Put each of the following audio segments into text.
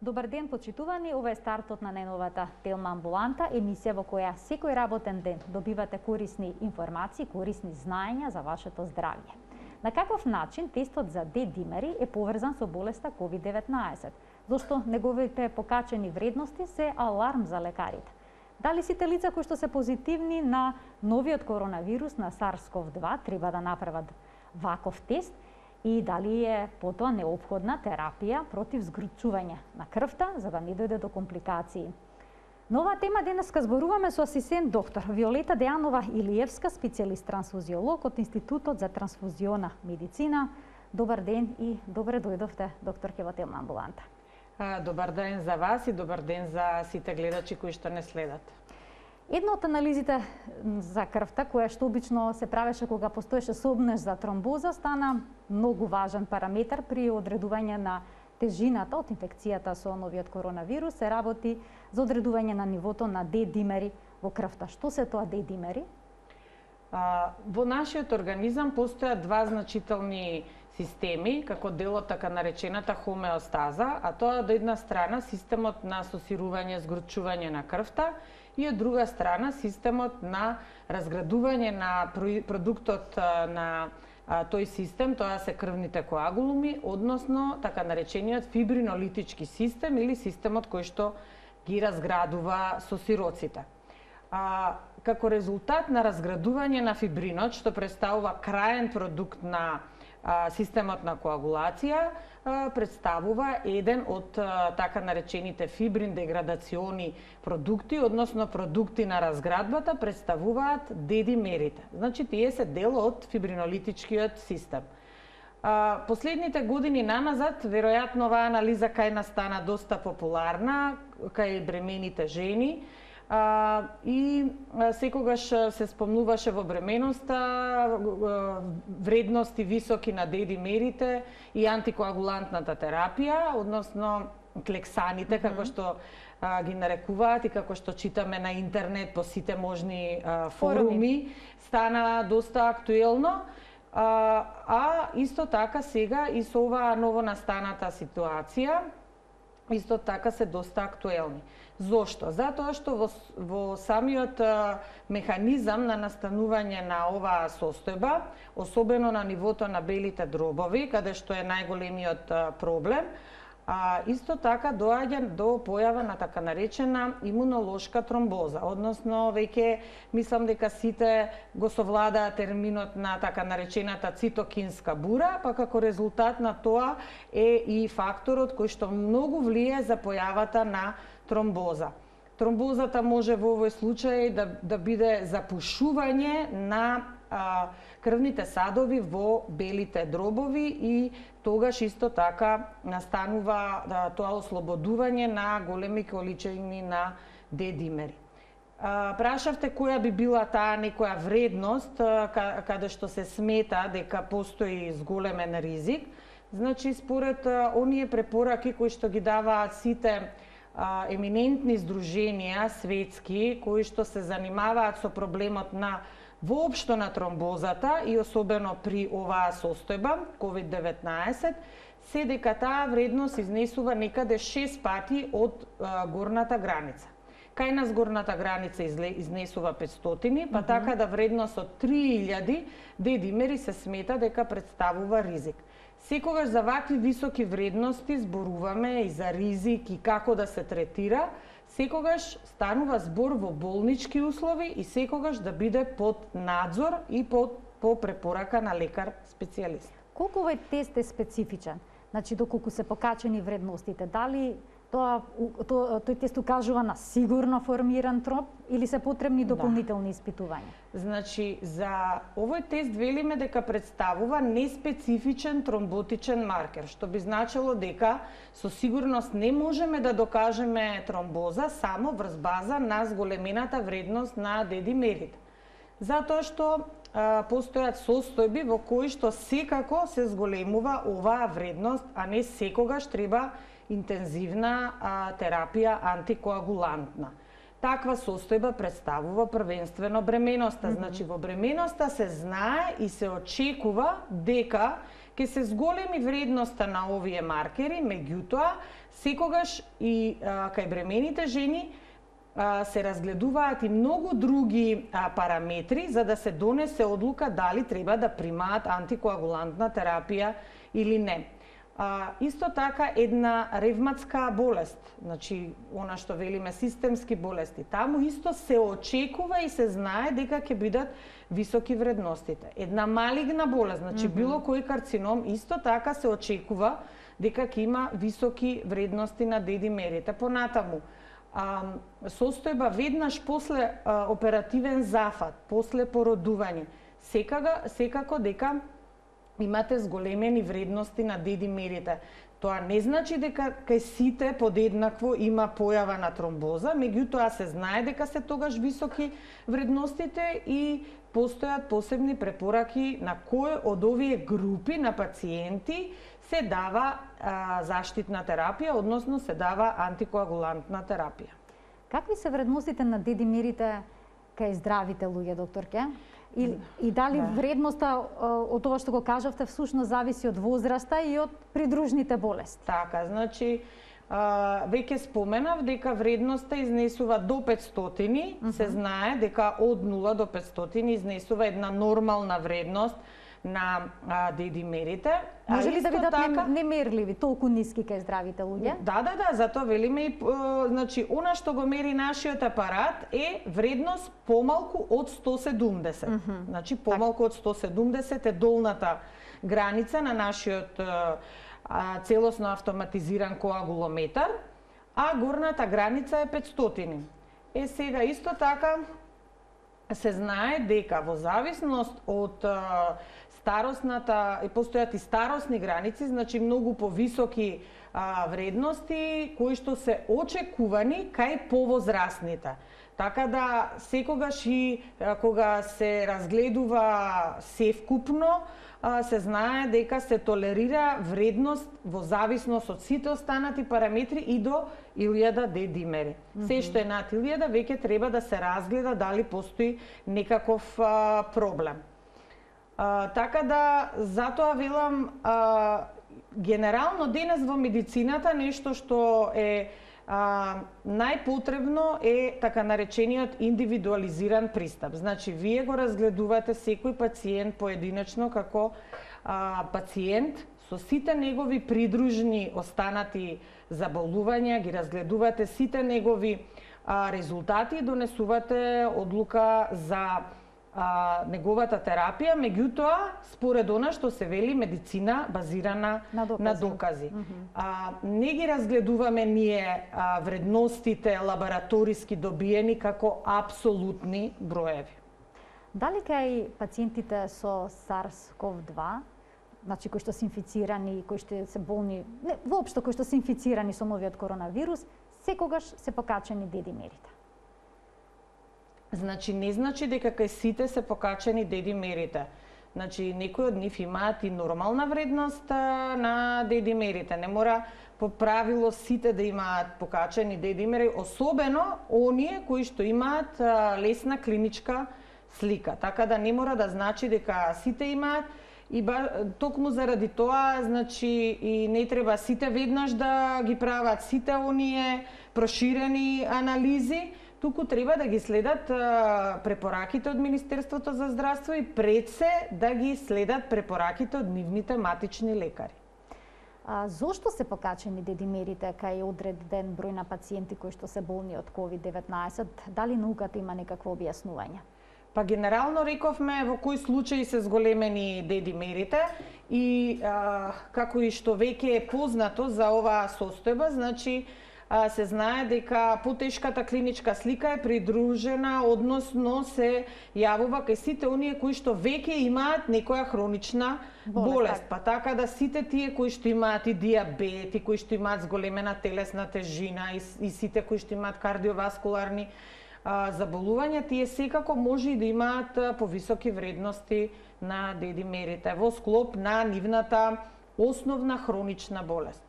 Добар ден, почитувани. Ова е стартот на најновата Телма амбуланта, емисија во која секој работен ден добивате корисни информации, корисни знаења за вашето здравје. На каков начин тестот за Д-димери е поврзан со болеста COVID-19? Зошто неговите покачени вредности се аларм за лекарите? Дали сите лица кои што се позитивни на новиот коронавирус на SARS-CoV-2 треба да направат ваков тест? И дали е потоа неопходна терапија против згрчување на крвта за да не дојде до компликации. На оваа тема денеска зборуваме со асистент доктор Виолета Дејанова Илиевска, специјалист трансфузиолог од Институтот за трансфузиона медицина. Добар ден и добре дојдовте, докторке, во Телма амбуланта. Добар ден за вас и добар ден за сите гледачи кои што не следат. Една од анализите за крвта, која што обично се правеше кога постоеше сомнеж за тромбоза, стана многу важен параметар при одредување на тежината од инфекцијата со новиот коронавирус. Се работи за одредување на нивото на Д-димери во крвта. Што се тоа Д-димери? Во нашиот организам постојат два значителни системи, како дел од така наречената хомеостаза, а тоа од една страна системот на асоцирување, згрчување на крвта и од друга страна системот на разградување на продуктот на тој систем, тоа се крвните коагулуми, односно така наречениот фибринолитички систем или системот кој што ги разградува сосироците. Како резултат на разградување на фибринот, што представува краен продукт на системот на коагулација, представува еден од така наречените фибрин деградациони продукти, односно продукти на разградбата, представуваат Д-димерите. Значи, тие се дел од фибринолитичкиот систем. Последните години наназад, веројатно оваа анализа кај нас стана доста популарна, кај бремените жени, и секогаш се спомнуваше во бременоста вредности високи на Д-димерите и антикоагулантната терапија, односно клексаните, како што ги нарекуваат и како што читаме на интернет по сите можни форуми, стана доста актуелно. А исто така сега и со оваа новонастаната ситуација, исто така се доста актуелни. Зошто? Затоа што во самиот механизам на настанување на оваа состојба, особено на нивото на белите дробови, каде што е најголемиот проблем, исто така доаѓа до појава на така наречена имунолошка тромбоза, односно веќе мислам дека сите го совладаа терминот на така наречената цитокинска бура, па како резултат на тоа е и факторот кој што многу влие за појавата на тромбоза. Тромбозата може во овој случај да биде запушување на крвните садови во белите дробови и тогаш исто така настанува тоа ослободување на големи количини на Д-димери. Прашавте која би била таа некоја вредност каде што се смета дека постои зголемен ризик. Значи, според оние препораки кои што ги даваат сите еминентни здруженија светски кои што се занимаваат со проблемот на воопшто на тромбозата и особено при оваа состојба COVID-19, се дека таа вредност изнесува некаде 6 пати од горната граница. Кај нас горната граница изнесува 500, па така да вредност од 3000 Д-димери се смета дека представува ризик. Секогаш за вакви високи вредности зборуваме и за ризик и како да се третира, секогаш станува збор во болнички услови и секогаш да биде под надзор и по препорака на лекар специјалист. Колку овој тест е специфичен? Значи, доколку се покачени вредностите, дали тој тест укажува на сигурно формиран тромб или се потребни дополнителни испитувања? Значи, за овој тест велиме дека представува неспецифичен тромботичен маркер, што би значило дека со сигурност не можеме да докажеме тромбоза само врз база на зголемената вредност на Д-димерите. Затоа што постојат состојби во кои што секако се зголемува оваа вредност, а не секогаш треба интензивна терапија антикоагулантна. таква состојба представува првенствено бременоста. Значи во бременоста се знае и се очекува дека ќе се зголеми вредноста на овие маркери, меѓутоа секогаш и кај бремените жени се разгледуваат и многу други параметри за да се донесе одлука дали треба да примаат антикоагулантна терапија или не. Исто така една ревматска болест, значи она што велиме системски болести, таму исто се очекува и се знае дека ќе бидат високи вредностите. Една малигна болест, значи било кој карцином, исто така се очекува дека ќе има високи вредности на дедимерите. Понатаму, состојба веднаш после оперативен зафат, после породување, секако дека имате зголемени вредности на дедимерите. Тоа не значи дека кај сите подеднакво има појава на тромбоза, меѓутоа се знае дека се тогаш високи вредностите и постојат посебни препораки на кој од овие групи на пациенти се дава заштитна терапија, односно се дава антикоагулантна терапија. Какви се вредностите на дедимерите кај здравите луѓе, докторке? И дали вредноста од тоа што го кажавте всушност зависи од возраста и од придружните болести? Така, значи веќе споменав дека вредноста изнесува до 500, се знае дека од 0 до 500 изнесува една нормална вредност на дедимерите. Може ли да бидат немерливи, толку ниски кај здравите луѓе? Да, затоа велиме и значи она што го мери нашиот апарат е вредност помалку од 170. Значи помалку од 170 е долната граница на нашиот целосно автоматизиран коагулометар, а горната граница е 500. Сега исто така се знае дека во зависност од старосната, постојат и старосни граници, значи многу повисоки вредности кои што се очекувани кај повозрастните. Така да секогаш и кога се разгледува севкупно, се знае дека се толерира вредност во зависност од сите останати параметри и до 1000 дедимери. Се што е над 1000 веќе треба да се разгледа дали постои некаков проблем. Така да, затоа велам, генерално денес во медицината нешто што е најпотребно е така наречениот индивидуализиран пристап. Значи, вие го разгледувате секој пациент поединечно како пациент со сите негови придружни останати заболувања, ги разгледувате сите негови резултати и донесувате одлука за неговата терапија, меѓутоа според она што се вели медицина базирана на докази. Не ги разгледуваме ние вредностите лабораториски добиени како апсолутни броеви. Дали кај пациентите со SARS-CoV-2, значи кои што се инфицирани, кои што се болни, не, воопшто кои што се инфицирани со новиот коронавирус, секогаш се покачени дедимерите? Значи, не значи дека кај сите се покачени дедимерите. Значи, некои од нив имаат и нормална вредност на дедимерите. Не мора по правило сите да имаат покачени дедимери, особено оние кои што имаат лесна клиничка слика. Така да не мора да значи дека сите имаат и токму заради тоа, значи, и не треба сите веднаш да ги прават сите оние проширени анализи, туку треба да ги следат препораките од Министерството за здравство и пред се да ги следат препораките од нивните матични лекари. Зошто се покачени дедимерите кај одреден број на пациенти кои што се болни од COVID-19? Дали науката има некакво објаснување? Па генерално рековме во кои случаи се зголемени дедимерите и како и што веќе е познато за оваа состојба, значи се знае дека потешката клиничка слика е придружена, односно се јавува кај сите оние кои што веќе имаат некоја хронична болест. Па така да сите тие кои што имаат и диабет, и кои што имаат зголемена телесна тежина, и сите кои што имаат кардиоваскуларни заболувања, тие секако може и да имаат повисоки вредности на дедимерите во склоп на нивната основна хронична болест.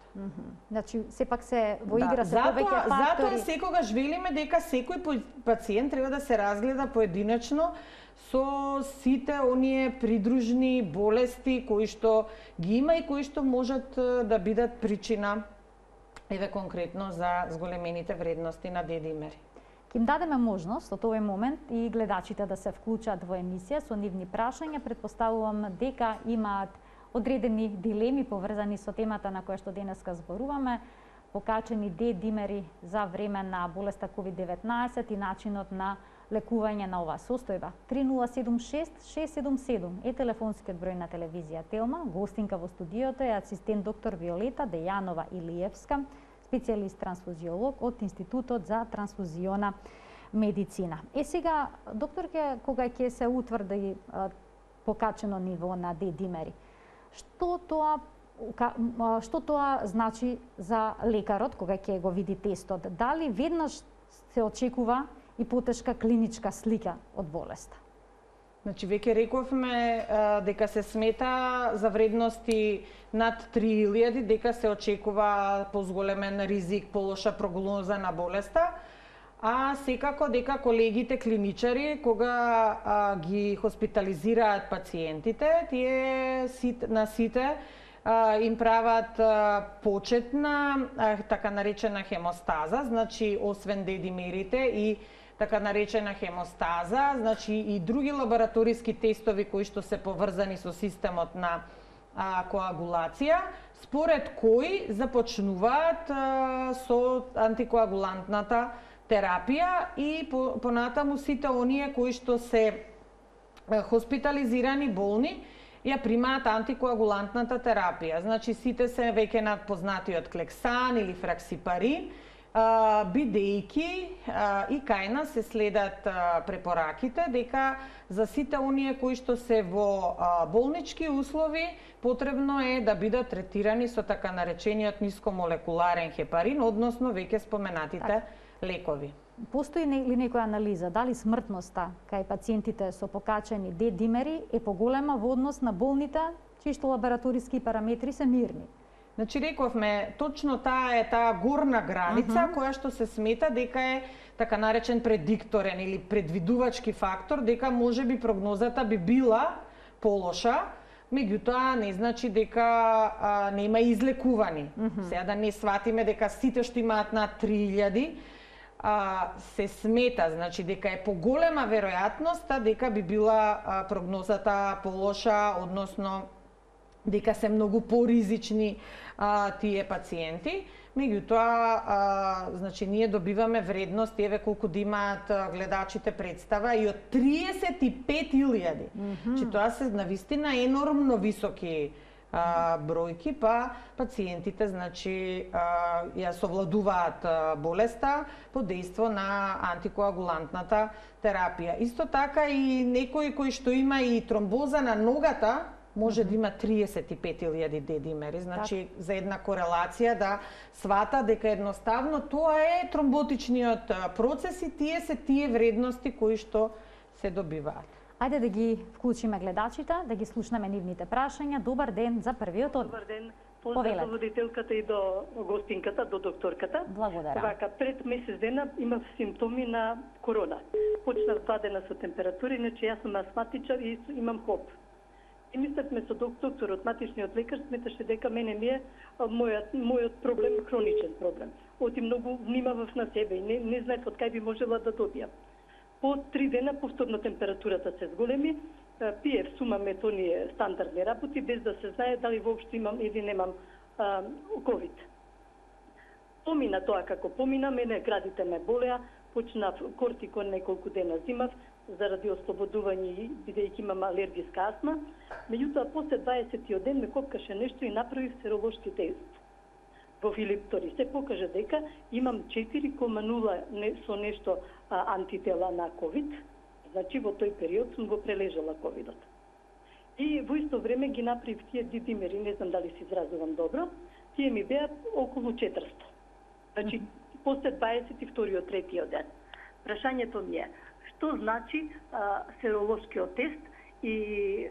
Значи, сепак се во игра се повеќе фактори. Затоа секогаш велиме дека секој пациент треба да се разгледа поединечно со сите оние придружни болести кои што ги има и кои што можат да бидат причина, еве конкретно, за зголемените вредности на D-димери. Ќе им дадеме можност од овој момент и гледачите да се вклучат во емисија со нивни прашања. Предпоставувам дека имаат одредени дилеми поврзани со темата на која што денеска зборуваме, покачени D-димери за време на болеста COVID-19 и начинот на лекување на оваа состојба. 3076-677 е телефонскиот број на телевизија Телма. Гостинка во студиото е асистент доктор Виолета Дејанова Илиевска, специјалист трансфузиолог од Институтот за трансфузиона медицина. Сега, докторке, кога ќе се утврди покачено ниво на D-димери, што тоа значи за лекарот кога ќе го види тестот? Дали веднаш се очекува и потешка клиничка слика од болеста? Значи, веќе рековме дека се смета за вредности над 3000, дека се очекува позголемен ризик, полоша прогноза на болеста, а секако дека колегите клиничари, кога ги хоспитализираат пациентите, тие на сите им прават почетна, така наречена хемостаза, значи освен D-димерите и така наречена хемостаза, значи и други лабораториски тестови кои што се поврзани со системот на коагулација, според кои започнуваат со антикоагулантната терапија и понатаму сите оние кои што се хоспитализирани болни ја примаат антикоагулантната терапија. Значи сите се веќе над познатиот клексан или фраксипарин, бидејќи и кај нас се следат препораките дека за сите оние кои што се во болнички услови потребно е да бидат третирани со така наречениот нискомолекуларен хепарин, односно веќе споменатите лекови. Постои ли некоја анализа дали смртноста кај пациентите со покачени D-димери е поголема во однос на болните чии што лабораториски параметри се мирни? Значи рековме, точно таа е таа горна граница која што се смета дека е така наречен предикторен или предвидувачки фактор, дека можеби прогнозата би била полоша, меѓутоа не значи дека нема излекувани. Сега да не сватиме дека сите што имаат над 3000 се смета, значи дека е поголема веројатноста дека би била прогнозата полоша, односно дека се многу поризични тие пациенти. Меѓутоа, значи ние добиваме вредност, еве колку да имаат гледачите представа, и од 35.000. Значи тоа се навистина енормно високи бројки, па пациентите значи ја совладуваат болеста под дејство на антикоагулантната терапија. Исто така и некој кој што има и тромбоза на ногата може да има 35.000 D-димери, значи за една корелација да свата дека едноставно тоа е тромботичниот процес и тие се тие вредности кои што се добиваат. Ајде да ги вклучиме гледачите, да ги слушнеме нивните прашања. Добар ден за првиот. Добар ден. Поздрав до водителката и до гостинката, до докторката. Благодарам. Вака, пред месец дена имав симптоми на корона. Почнав 2 дена со температура, иначе јас сум астматичар и имам хоп. И мислевме со докторот, матичниот лекар, сметаше дека мене ми е мојот проблем, хроничен проблем. Оти многу внимавав на себе и не знаев од кај би можела да добијам. По 3 дена повторно температурата се зголеми, пиев сумаме оние стандардни работи, без да се знае дали воопшто имам или немам ковид. Помина тоа како помина, мене градите ме болеа, почнав кортикон неколку дена зимав, заради ослободување, бидејќи имам алергиска астма. Меѓутоа, после 20 ден ме копкаше нешто и направив серолошки тест. Во Филиптори се покажа дека имам 4,0 со нешто антитела на ковид. Значи, во тој период сум го прележала ковидот. И во исто време ги направив тие D-димери, не знам дали се изразувам добро, тие ми беа околу 400. Значи, после 22-тиот, 3-тиот ден. Прашањето ми е, што значи серолошкиот тест и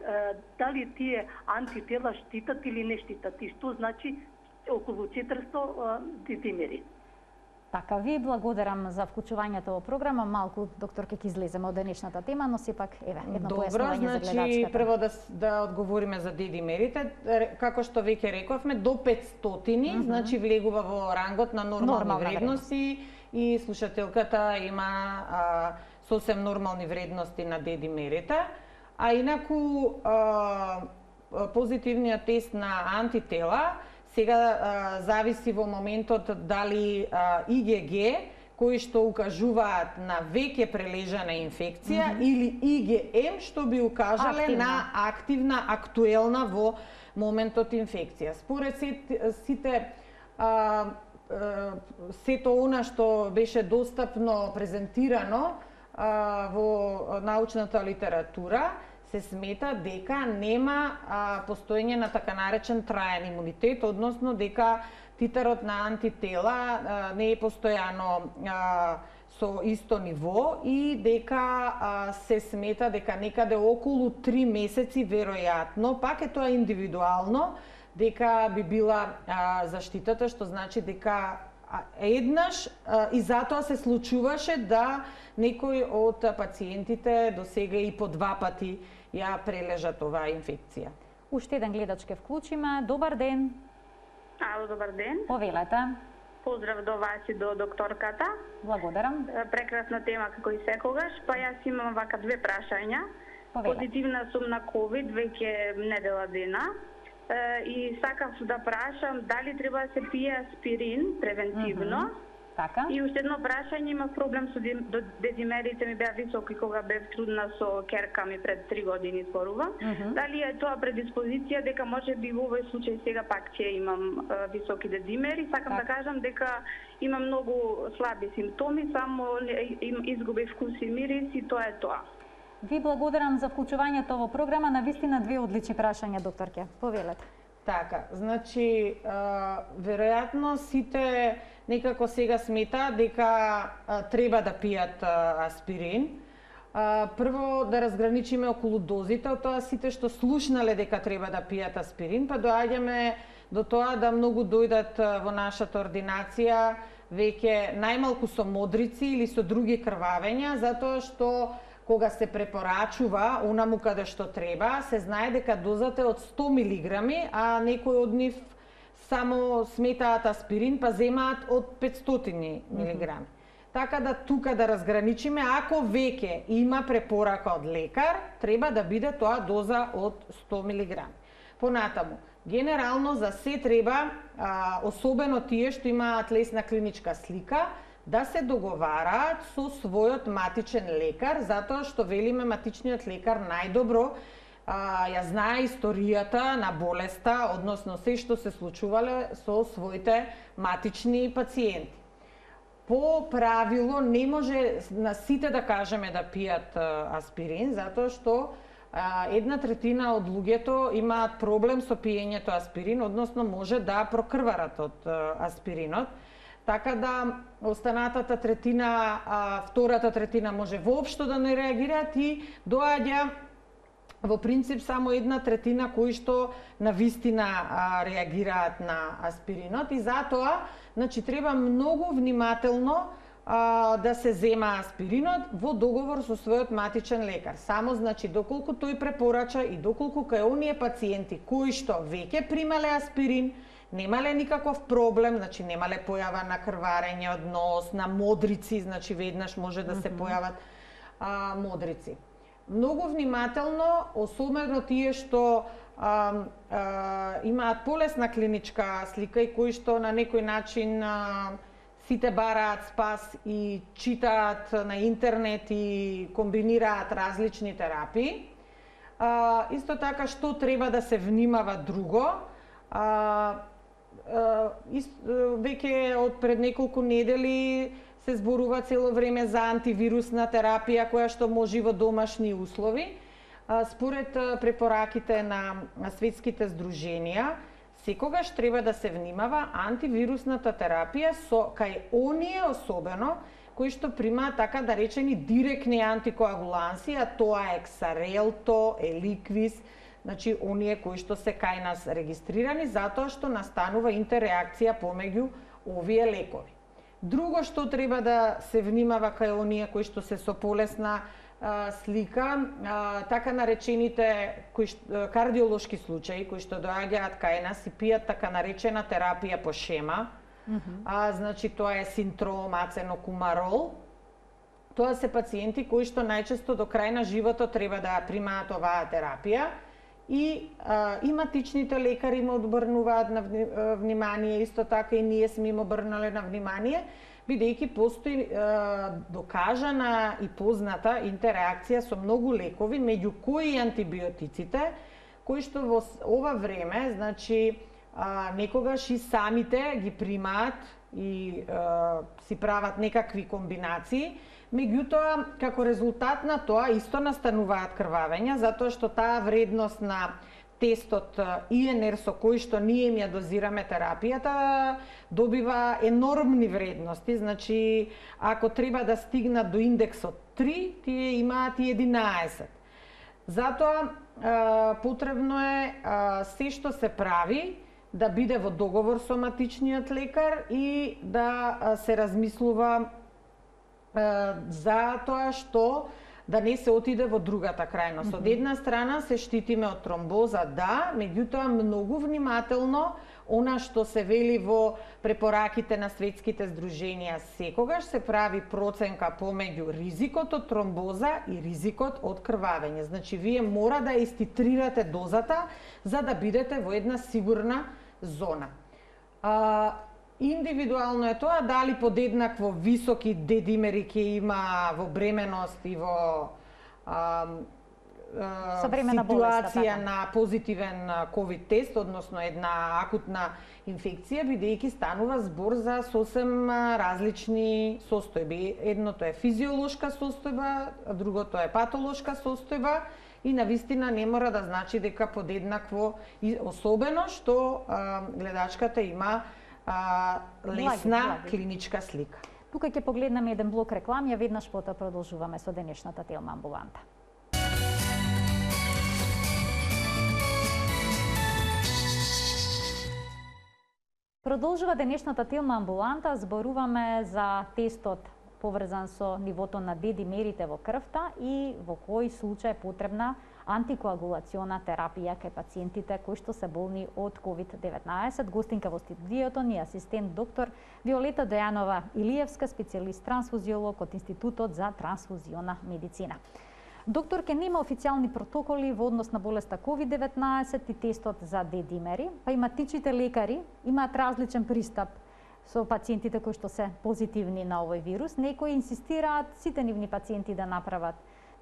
дали тие антитела штитат или не штитат? И што значи околу 400 децимери. Така, ви благодарам за вклучувањето во програма. Малку, докторке, ќе излеземе од денешната тема, но сепак, еве, едно појаснување за гледачката. Добро, прво да одговориме за дедимерите. Како што веќе рековме, до 500, значи влегува во рангот на нормални вредности и слушателката има сосем нормални вредности на дедимерите. А инаку, позитивниот тест на антитела сега зависи во моментот дали ИГГ, кои што укажуваат на веќе прележана инфекција, или ИГМ, што би укажале на активна, актуелна во моментот инфекција. Според сите сето она што беше достапно презентирано во научната литература, се смета дека нема постоење на така наречен траен имунитет, односно дека титарот на антитела не е постојано со исто ниво и дека се смета дека некаде околу 3 месеци веројатно, пак е тоа индивидуално, дека би била заштитата, што значи дека еднаш и затоа се случуваше да некои од пациентите до сега и по 2 пати ја прележат оваа инфекција. Уште еден гледач ке вклучиме. Добар ден. Ало, добар ден. Повелете. Поздрав до вас и до докторката. Благодарам. Прекрасна тема како и секогаш. Па јас имам вака 2 прашања. Повелете. Позитивна сум на COVID веќе недела дена. И сакав да прашам дали треба да се пие аспирин превентивно. Така. И уште едно прашање, имав проблем со дезимерите, ми беа високи кога бев трудна со керка ми пред 3 години зборувам. Дали е тоа предиспозиција дека може би во овој случај сега пак ќе имам високи дезимери? Сакам да кажам дека имам многу слаби симптоми, само изгубив вкус и мирис и тоа е тоа. Ви благодарам за вклучувањето во програма. Навистина 2 одлични прашања, докторке. Повелете. Така, значи, веројатно сите некако сега смета дека треба да пијат аспирин. Прво да разграничиме околу дозите, од тоа сите што слушнале дека треба да пијат аспирин, па доаѓаме до тоа да многу дојдат во нашата ординација веќе најмалку со модрици или со други крвавења, затоа што кога се препорачува онаму каде што треба, се знае дека дозата е од 100 милиграми, а некои од нив само сметаат аспирин, па земаат од 500 милиграми. Така да тука да разграничиме, ако веќе има препорака од лекар, треба да биде тоа доза од 100 милиграми. Понатаму, генерално за се треба, особено тие што имаат лесна клиничка слика, да се договараат со својот матичен лекар, затоа што велиме матичниот лекар најдобро ја знае историјата на болеста, односно се што се случувале со своите матични пациенти. По правило не може на сите да кажеме да пијат аспирин, затоа што 1/3 од луѓето имаат проблем со пиењето аспирин, односно може да прокрварат од аспиринот. Така да останатата третина, втората третина може воопшто да не реагираат и доаѓа во принцип само 1/3 кои што навистина реагираат на аспиринот и затоа значи треба многу внимателно да се зема аспиринот во договор со својот матичен лекар. Само значи доколку тој препорача и доколку кај оние пациенти кои што веќе примале аспирин, немале никаков проблем, значи немале појава на крварење од нос, на модрици, значи веднаш може да се појават модрици. Многу внимателно, особено тие што имаат полесна клиничка слика и кои што на некој начин сите бараат спас и читаат на интернет и комбинираат различни терапии. Исто така што треба да се внимава друго, веќе од пред неколку недели се зборува цело време за антивирусна терапија која што може во домашни услови. Според препораките на светските здруженија, секогаш треба да се внимава антивирусната терапија со кај оние особено кои што примаат така да речени директни антикоагуланси, а тоа е Xarelto, Eliquis, значи оние кои што се кај нас регистрирани, затоа што настанува интерреакција помеѓу овие лекови. Друго што треба да се внимава кај оние кои што се со полесна слика, така наречените кардиолошки случаи кои што доаѓаат кај нас и пијат така наречена терапија по шема, значи тоа е синтром аценокумарол. Тоа се пациенти кои што најчесто до крај на животот треба да примаат оваа терапија и иматичните лекари им обрнуваат на внимание, исто така и ние сме им обрнале на внимание, бидејќи постои докажана и позната интерреакција со многу лекови, меѓу кои антибиотиците, кои што во ова време, значи, некогаш и самите ги примаат и си прават некакви комбинации, меѓутоа, како резултат на тоа, исто настануваат крвавења, затоа што таа вредност на тестот ИНР со кој што ние им ја дозираме терапијата, добива енормни вредности, значи, ако треба да стигнат до индексот 3, тие имаат и 11. Затоа, потребно е се што се прави, да биде во договор со матичниот лекар и да се размислува за тоа што да не се отиде во другата крајност. Од една страна се штитиме од тромбоза, да, меѓутоа многу внимателно она што се вели во препораките на светските здруженија, секогаш се прави проценка помеѓу ризикот од тромбоза и ризикот од крвавење. Значи, вие мора да иститрирате дозата за да бидете во една сигурна зона. Индивидуално е тоа дали подеднакво високи дедимери ќе има во бременост и во ситуација на позитивен ковид тест, односно една акутна инфекција, бидејќи станува збор за сосем различни состојби. Едното е физиолошка состојба, а другото е патолошка состојба и навистина не мора да значи дека подеднакво, особено што гледачката има лесна клиничка слика. Тука ќе погледнеме еден блок реклами, а веднаш потоа продолжуваме со денешната Телма амбуланта. Продолжува денешната Телма амбуланта, зборуваме за тестот поврзан со нивото на дедимерите во крвта и во кој случај е потребна антикоагулациона терапија кај пациентите кои што се болни од COVID-19. Гостинка во студиото ни е асистент доктор Виолета Дојанова Илиевска, специјалист трансфузиолог од Институтот за трансфузиона медицина. Докторке, нема официјални протоколи во однос на болеста COVID-19 и тестот за дедимери, па и матичните лекари имаат различен пристап со пациентите кои што се позитивни на овој вирус. Некои инсистираат сите нивни пациенти да направат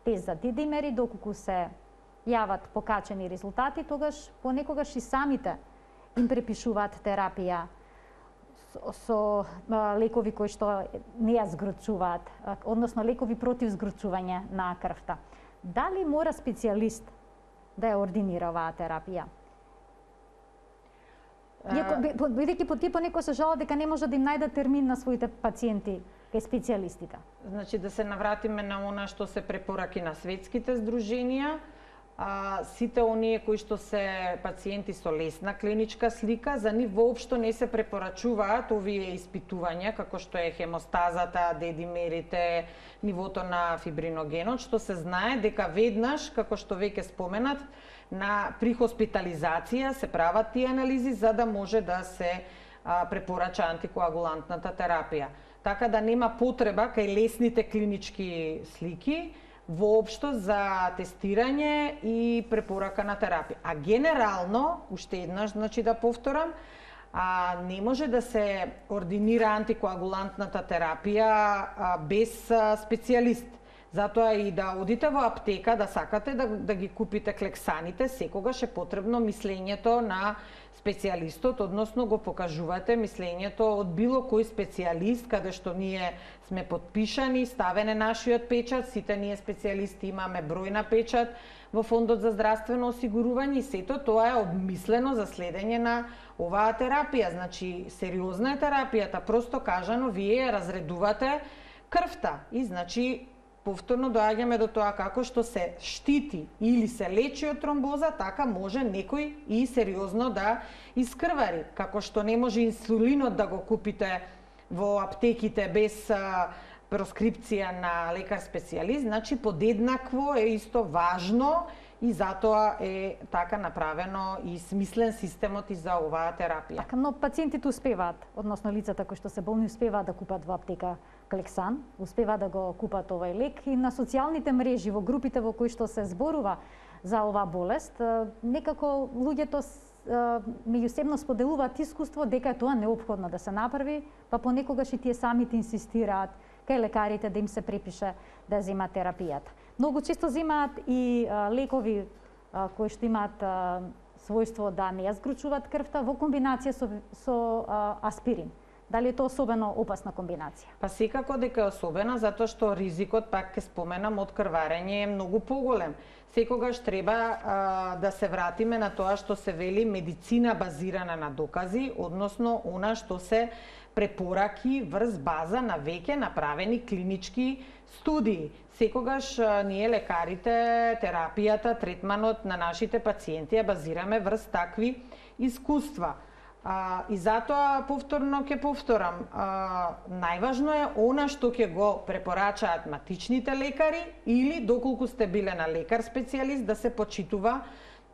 тест за дедимери, доколку се јават покачени резултати, тогаш понекогаш и самите им препишуваат терапија со лекови кои што не ја згрчуваат, односно лекови против згрчување на крвта. Дали мора специјалист да ја ординира оваа терапија? Бидејќи тие понекогаш се жалат дека не може да им најдат термин на своите пациенти кај специјалистите. Значи, да се навратиме на она што се препораки на светските здруженија, сите оние кои што се пациенти со лесна клиничка слика, за нив воопшто не се препорачуваат овие испитувања, како што е хемостазата, дедимерите, нивото на фибриногенот, што се знае дека веднаш, како што веќе споменат, при хоспитализација се прават тие анализи за да може да се препорача антикоагулантната терапија. Така да нема потреба кај лесните клинички слики воопшто за тестирање и препорака на терапија. А генерално, уште еднаш, значи да повторам, не може да се ординира антикоагулантната терапија без специјалист. Затоа и да одите во аптека, да сакате да ги купите клексаните, секогаш е потребно мислењето на специјалистот, односно го покажувате мислењето од било кој специјалист, каде што ние сме подпишани, ставен е нашиот печат, сите ние специјалисти имаме број на печат во Фондот за здравствено осигурување и сето тоа е обмислено за следење на оваа терапија. Значи, сериозна е терапијата, просто кажано, вие разредувате крвта и значи повторно доаѓаме до тоа како што се штити или се лечи од тромбоза, така може некој и сериозно да искрвари. Како што не може инсулинот да го купите во аптеките без проскрипција на лекар специјалист, значи подеднакво е исто важно и затоа е така направено и смислен системот и за оваа терапија. Така, но пациентите успеваат, односно лицата кои што се болни успеваат да купат во аптека Клексан, успеваат да го купат овај лек и на социјалните мрежи, во групите во кои што се зборува за оваа болест, некако луѓето меѓусебно споделуваат искуство дека е тоа неопходно да се направи, па понекогаш и тие самите инсистираат кај лекарите да им се препише да земат терапијата. Многу често земаат и лекови кои што имаат својство да не ја згручуваат крвта во комбинација со аспирин. Дали е тоа особено опасна комбинација? Па секако дека е особена, затоа што ризикот, пак ќе споменам, од крварење е многу поголем. Секогаш треба да се вратиме на тоа што се вели медицина базирана на докази, односно она што се препораки врз база на веќе направени клинички студии. Секогаш ние лекарите, терапијата, третманот на нашите пациенти ја базираме врз такви искуства. И затоа повторно ќе повторам, најважно е она што ќе го препорачаат матичните лекари или доколку сте биле на лекар специјалист да се почитува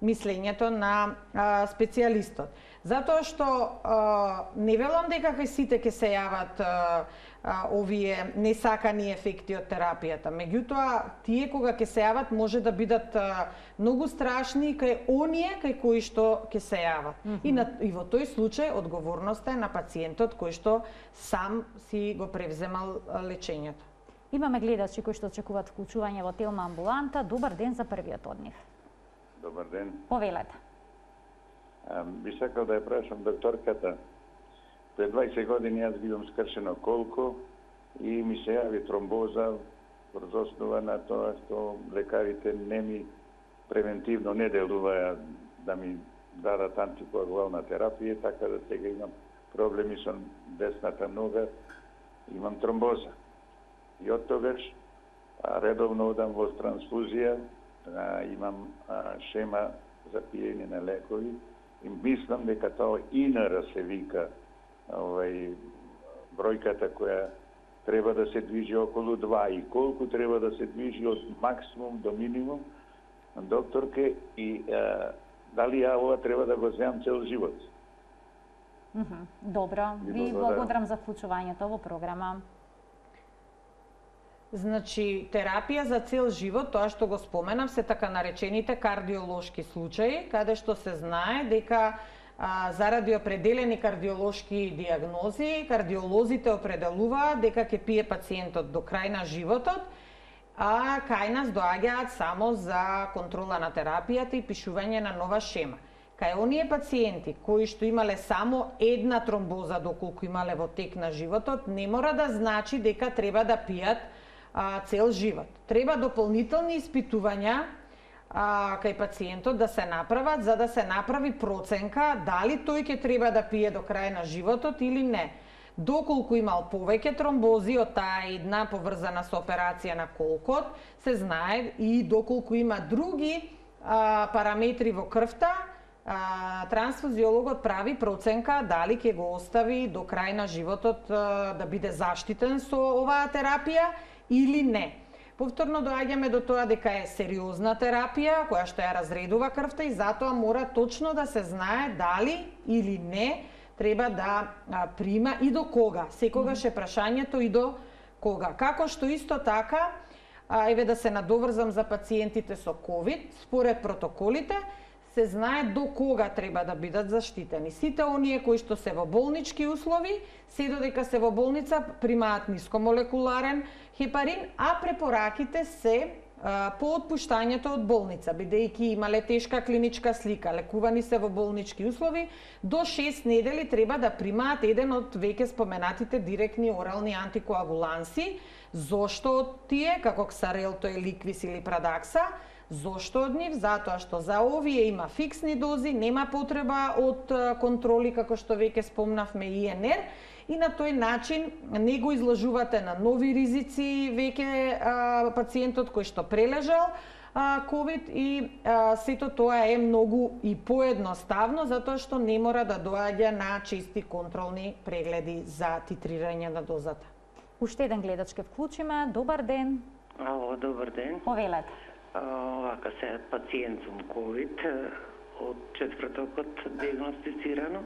мислењето на специјалистот. Затоа што не велам дека кај сите ќе се јават овие несакани ефекти од терапијата. Меѓутоа, тие кога ќе се јават може да бидат многу страшни кај оние кај кои што ќе се јават. И во тој случај одговорноста е на пациентот кој што сам си го превземал лечењето. Имаме гледачи кои што очекуваат вклучување во Телма амбуланта. Добар ден за првиот од нив. Добар ден. Повелете. Би сакал да ја прашам докторката. Пред 20 години јас бидам скршено колко и ми се јави тромбоза врз основа на тоа што лекарите не ми превентивно не делуваја да ми дадат антикоагулална терапија, така да сега имам проблеми со десната нога, имам тромбоза. И од тогаш редовно одам во трансфузија, имам шема за пиење на лекови и мислам дека тоа ИНР се вика бројката која треба да се движи околу 2 и колку треба да се движи од максимум до минимум, докторке, и дали ја ова треба да го земам цел живот? Добро, ви благодарам за вклучувањето во програма. Значи, терапија за цел живот, тоа што го споменав, се така наречените кардиолошки случаи, каде што се знае дека заради определени кардиолошки диагнози, кардиолозите определуваат дека ќе пие пациентот до крај на животот, а кај нас доаѓаат само за контрола на терапијата и пишување на нова шема. Кај оние пациенти кои што имале само една тромбоза доколку имале во тек на животот, не мора да значи дека треба да пијат цел живот. Треба дополнителни испитувања кај пациентот да се направат за да се направи проценка дали тој ќе треба да пие до крај на животот или не. Доколку имал повеќе тромбози од таа една поврзана со операција на колкот, се знае и доколку има други параметри во крвта, трансфузиологот прави проценка дали ќе го остави до крај на животот да биде заштитен со оваа терапија или не. Повторно доаѓаме до тоа дека е сериозна терапија која што ја разредува крвта и затоа мора точно да се знае дали или не треба да прима и до кога. Секогаш е прашањето и до кога. Како што исто така, еве да се надоврзам за пациентите со COVID, според протоколите, се знае до кога треба да бидат заштитени. Сите оние кои што се во болнички услови, се додека се во болница, примаат нискомолекуларен хепарин, а препораките се по отпуштањето од болница, бидејќи имале тешка клиничка слика, лекувани се во болнички услови, до 6 недели треба да примаат еден од веќе споменатите директни орални антикоагуланси. Зошто од тие, како ксарелто, еликвис или прадакса? Зошто од нив? Затоа што за овие има фиксни дози, нема потреба од контроли, како што веќе спомнавме, ИНР, и на тој начин не го изложувате на нови ризици веќе пациентот кој што прележал COVID, и сето тоа е многу и поедноставно, затоа што не мора да доаѓа на чести контролни прегледи за титрирање на дозата. Уште еден гледач ке вклучиме. Добар ден. Ало, добар ден. Повелете. Овака се пациент сум COVID, од четвртокот диагностицирано.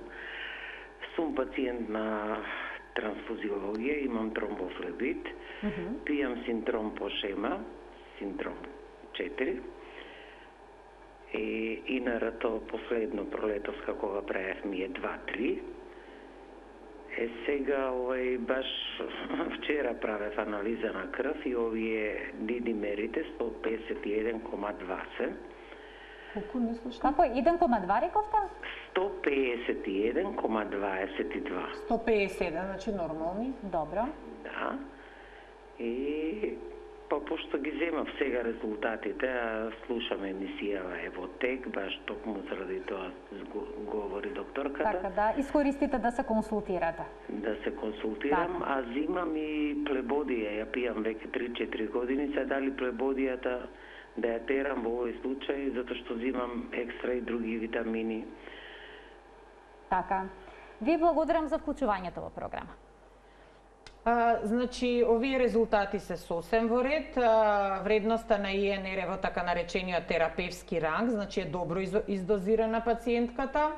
Сум пациент на трансфузиологија, имам тромбофлебит, пијам синдром по шема, синдром 4. И инарато последно пролетовска кога правев ми е 2-3. Сега баш вчера правев анализа на крв и овие дидимерите 151,20. Колку не слушам? Како 1,2 рековте? 151,22. 150, значи нормални. Добро. Да. И пошто ги земав сега резултатите, слушам емисијава Евотек, баш токму заради тоа говори докторката. Така да, искористите да се консултирате. Да се консултирам, така. А зимам и плебодија, ја пијам веќе 3-4 години, се дали плебодијата да ја терам во овој случај, затоа што зимам екстра и други витамини. Така. Ви благодарам за вклучувањето во програма. Значи, овие резултати се сосем во ред. Вредноста на ИНР е во така наречениот терапевски ранг, значи е добро издозирана пациентката.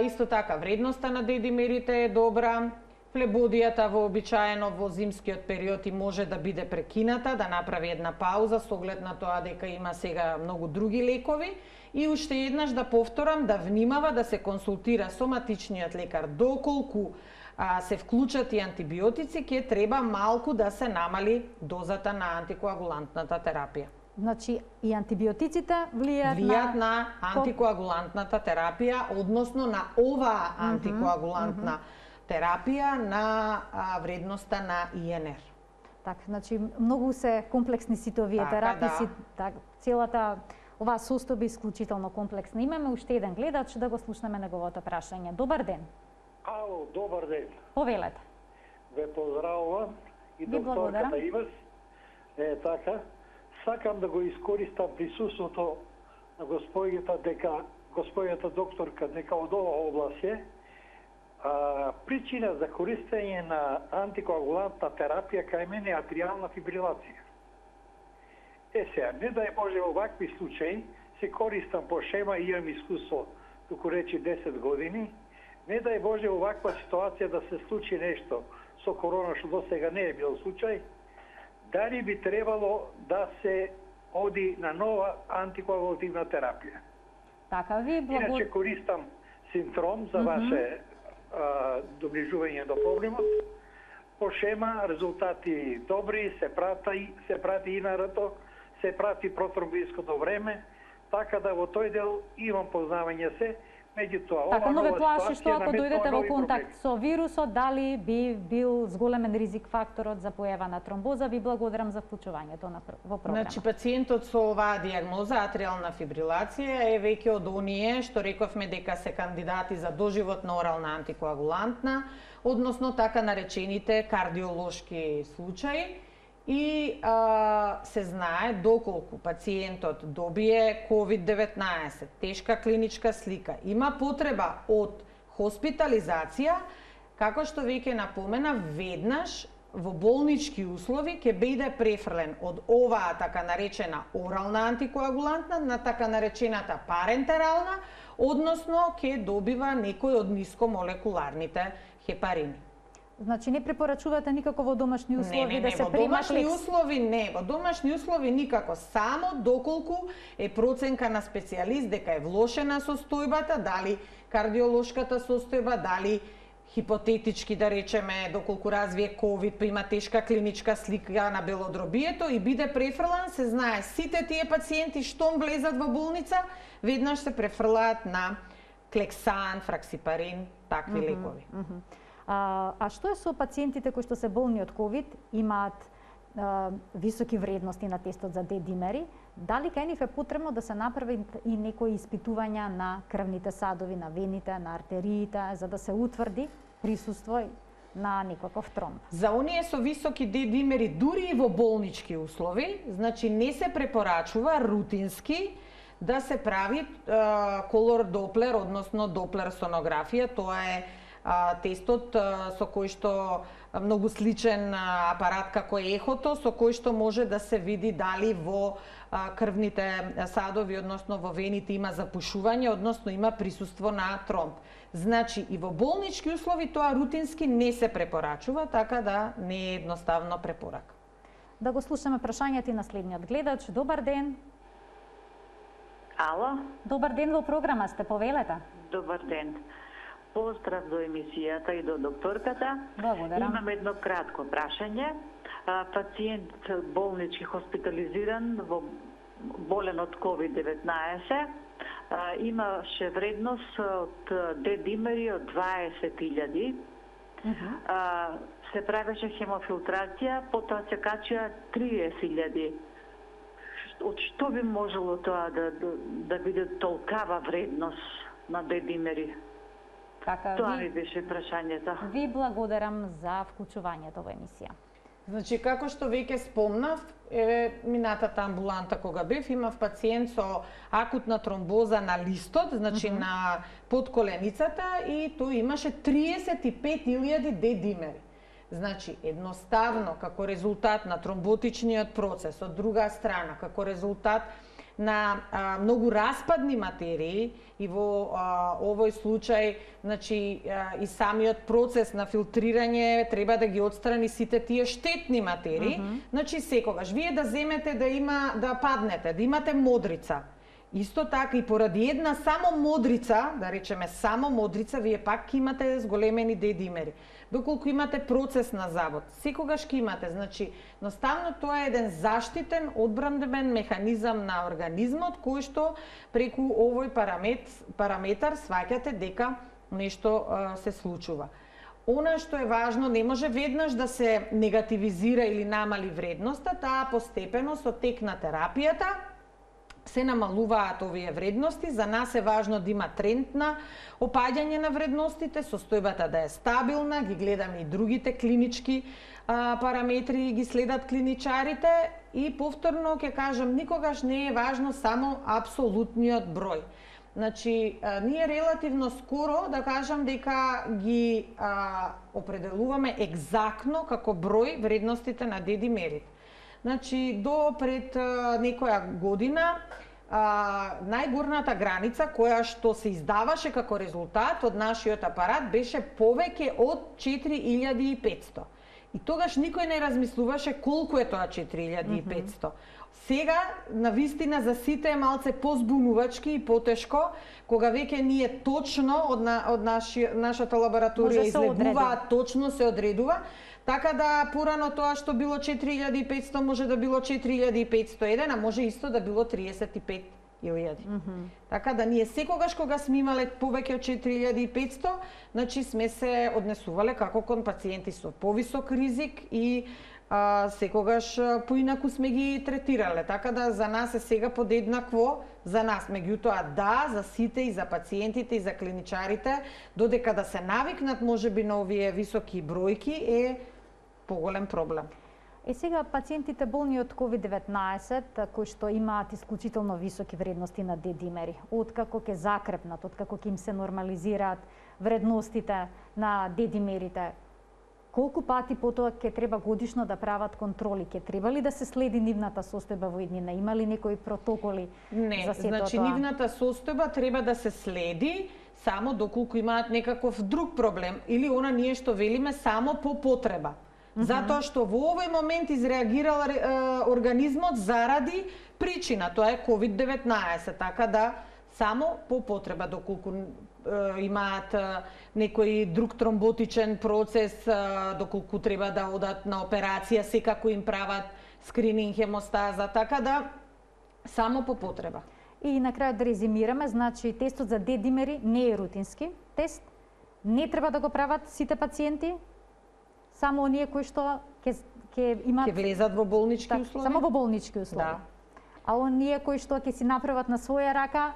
Исто така, вредноста на дедимерите е добра. Флебодијата вообичаено во зимскиот период и може да биде прекината, да направи една пауза со оглед на тоа дека има сега многу други лекови. И уште еднаш да повторам, да внимава да се консултира соматичниот лекар доколку се вклучат и антибиотици, ќе треба малку да се намали дозата на антикоагулантната терапија. Значи и антибиотиците влијаат на антикоагулантната терапија, односно на оваа антикоагулантна терапија на вредноста на ИНР. Така, значи многу се комплексни сите овие терапии, да. Целата оваа состојба е исклучително комплексна. Имаме уште еден гледач, да го слушнеме неговото прашање. Добар ден. Ало, добар ден. Повелете. Ве поздравувам и докторката Ивас. Така, сакам да го искористам присуството на господјата докторка дека од ова област е. Причина за користење на антикоагулантна терапија кај мене е атриална фибрилација. Сега, не дај Боже во вакви случаи, се користам по шема и имам искуство, туку речи 10 години. Не дај Боже во ваква ситуација да се случи нешто со корона, што до сега не е бил случај, дали би требало да се оди на нова антикоагулативна терапија. Така, ви Иначе користам синдром за ваше доближување до проблемот. По шема резултати добри, се прати инарато, се прати протромбиското време, така да во тој дел имам познавање се. Така, но ве плаши што ако дојдете во контакт со вирусот, дали би бил зголемен ризик факторот за појава на тромбоза? Ви благодарам за вклучувањето во програма. Значи, пациентот со оваа дијагноза, атриална фибрилација, е веќе од оние што рековме дека се кандидати за доживотна орална антикоагулантна, односно така наречените кардиолошки случаи. И се знае доколку пациентот добие COVID-19, тешка клиничка слика, има потреба од хоспитализација, како што веќе напомена, веднаш во болнички услови ќе биде префрлен од оваа така наречена орална антикоагулантна на така наречената парентерална, односно ќе добива некој од нискомолекуларните хепарини. Значи не препорачувате никако во домашни услови да се примат домашни услови не, во домашни услови никако, само доколку е проценка на специјалист дека е влошена состојбата, дали кардиолошката состојба, дали хипотетички да речеме доколку развие ковид, па има тешка клиничка слика на белодробието и биде префрлан, се знае сите тие пациенти штом влезат во болница, веднаш се префрлаат на клексан, фраксипарин, такви лекови. А што е со пациентите кои што се болни од ковид, имаат високи вредности на тестот за D-димери, Дали кај нив е потребно да се направи и некои испитувања на крвните садови, на вените, на артериите, за да се утврди присуство на некаков тромб? За оние со високи D-димери, дури и во болнички услови, значи не се препорачува рутински да се прави колор доплер, односно доплер сонографија. Тоа е тестот со кој што многу сличен апарат како ехото, со кој што може да се види дали во крвните садови, односно во вените има запушување, односно има присуство на тромб. Значи и во болнички услови тоа рутински не се препорачува, така да не е едноставно препорака. Да го слушаме прашањето и на следниот гледач. Добар ден. Ало? Добар ден, во програма сте, повелете. Добар ден. Поздрав до емисијата и до докторката. Благодарам. Имам едно кратко прашање. Пациент болнички хоспитализиран, болен од COVID-19, имаше вредност од D-димери од 20.000. Се правеше хемофилтрација, потоа се качија 30.000. Од што би можело тоа да биде толкава вредност на D-димери? Тоа ми беше прашањето. Ви благодарам за вклучувањето во емисија. Значи, како што веќе спомнав, минатата амбуланта кога бев, имав пациент со акутна тромбоза на листот, значи на подколеницата, и тој имаше 35.000 D-димери. Значи, едноставно, како резултат на тромботичниот процес, од друга страна, како резултат на многу распадни материи, и во овој случај, значи, и самиот процес на филтрирање треба да ги отстрани сите тие штетни материи. Значи, секогаш вие да земете да паднете, да имате модрица. Исто така и поради една само модрица, да речеме само модрица, вие пак имате зголемени D-димери. Доколку имате процес на завод, секогаш ќе имате. Значи, наставно тоа е еден заштитен, одбранбен механизам на организмот, кој што преку овој параметар сваќате дека нешто се случува. Она што е важно, не може веднаш да се негативизира или намали вредноста, таа постепено со тек на терапијата се намалуваат овие вредности. За нас е важно да има тренд на опаѓање на вредностите, состојбата да е стабилна, ги гледаме и другите клинички параметри, ги следат клиничарите, и повторно ќе кажам, никогаш не е важно само апсолутниот број. Значи, ние релативно скоро, да кажам, дека ги определуваме екзактно како број вредностите на D-димерите. Значи, до пред некоја година, најгорната граница која што се издаваше како резултат од нашиот апарат беше повеќе од 4500. И тогаш никој не размислуваше колку е тоа 4500. Сега, навистина, за сите е малце позбунувачки и потешко, кога веќе ние точно од нашата лабораторија излегуваат, точно се одредува. Така да порано тоа што било 4500 може да било 4501, а може исто да било 35.000. Така да ние секогаш кога сме имале повеќе од 4500, значи сме се однесувале како кон пациенти со повисок ризик и секогаш поинаку сме ги третирале. Така да за нас е сега подеднакво, за нас, меѓутоа да, за сите, и за пациентите, и за клиничарите, додека да се навикнат можеби на овие високи бројки, е поголем проблем. И сега пациентите болни од COVID-19, кои што имаат исклучително високи вредности на D-димери, откако ќе закрепнат, откако ќе им се нормализираат вредностите на D-димерите, колку пати потоа ќе треба годишно да прават контроли? Ќе треба ли да се следи нивната состојба во иднина? Има ли некои протоколи за сето тоа? Значи нивната состојба треба да се следи само доколку имаат некаков друг проблем, или она ние што велиме само по потреба. Затоа што во овој момент изреагирал организмот заради причина, тоа е COVID-19, така да само по потреба, доколку имаат некој друг тромботичен процес, доколку треба да одат на операција, секако им прават скрининг хемостаза, така да само по потреба. И на крај да резимираме, значи тестот за D-димери не е рутински тест, не треба да го прават сите пациенти, само оние кои што ќе имаат... Ќе влезат во болнички услови? Само во болнички услови. Да. а оние кои што ќе си направат на своја рака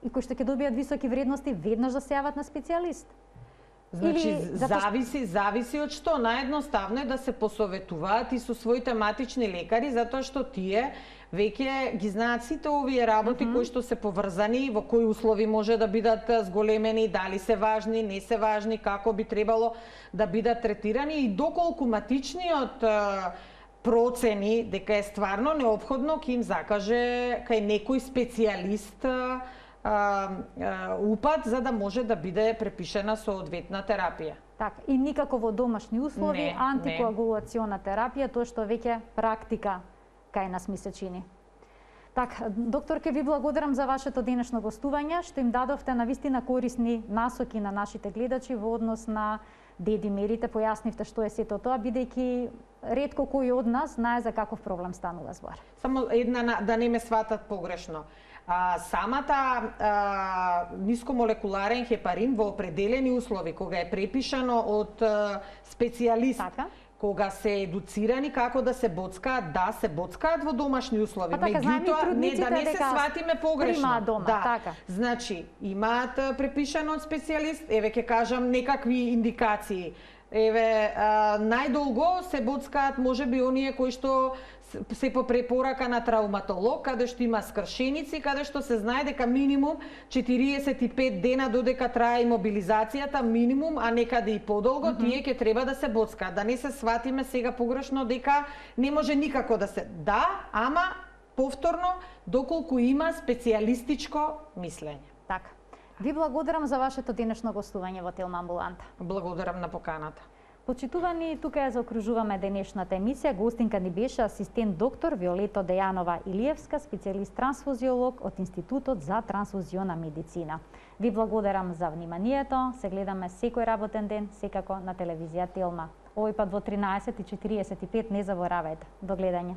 и кои што ќе добијат високи вредности, веднаш да се јават на специјалист? Значи, зависи од што. Наједноставно е да се посоветуваат и со своите матични лекари, затоа што тие веќе ги знаат сите овие работи кои што се поврзани, во кои услови може да бидат зголемени, дали се важни, не се важни, како би требало да бидат третирани и доколку матичниот процени дека е стварно неопходно ќе им закаже кај некој специјалист упат за да може да биде препишена соодветна терапија. Така, и никако во домашни услови, антикоагулациона терапија, тоа што веќе практика кај нас ми се чини. Така, доктор, ке ви благодарам за вашето денешно гостување, што им дадовте навистина корисни насоки на нашите гледачи во однос на дедимерите, појаснивте што е сето тоа, бидејќи ретко кој од нас знае за каков проблем станува збор. Само една да не ме сватат погрешно. Самата нискомолекуларен хепарин во определени услови, кога е препишано од специјалист, кога се едуцирани како да се боцкаат, да, се боцкаат во домашни услови. Меѓутоа, не да не се сватиме погрешно. Дома, да. така. Значи, имаат препишано од специјалист, еве ќе кажам некакви индикации. Еве, најдолго се боцкаат можеби оние кои што се по препорака на травматолог, каде што има скршеници, каде што се знае дека минимум 45 дена додека трае имобилизацијата, минимум, а некаде и подолго, тие ќе треба да се боцкаат. Да не се сватиме сега погрешно дека не може никако да се... Да, ама повторно, доколку има специјалистичко мислење. Така. Ви благодарам за вашето денешно гостување во Телма амбуланта. Благодарам на поканата. Почитувани, тука ја заокружуваме денешната емисија. Гостинка ни беше асистент доктор Виолето Дејанова Илиевска, специјалист трансфузиолог од Институтот за трансфузиона медицина. Ви благодарам за вниманието. Се гледаме секој работен ден, секако на телевизија Телма. Овој пат во 13:45, не заборавајте. До гледање.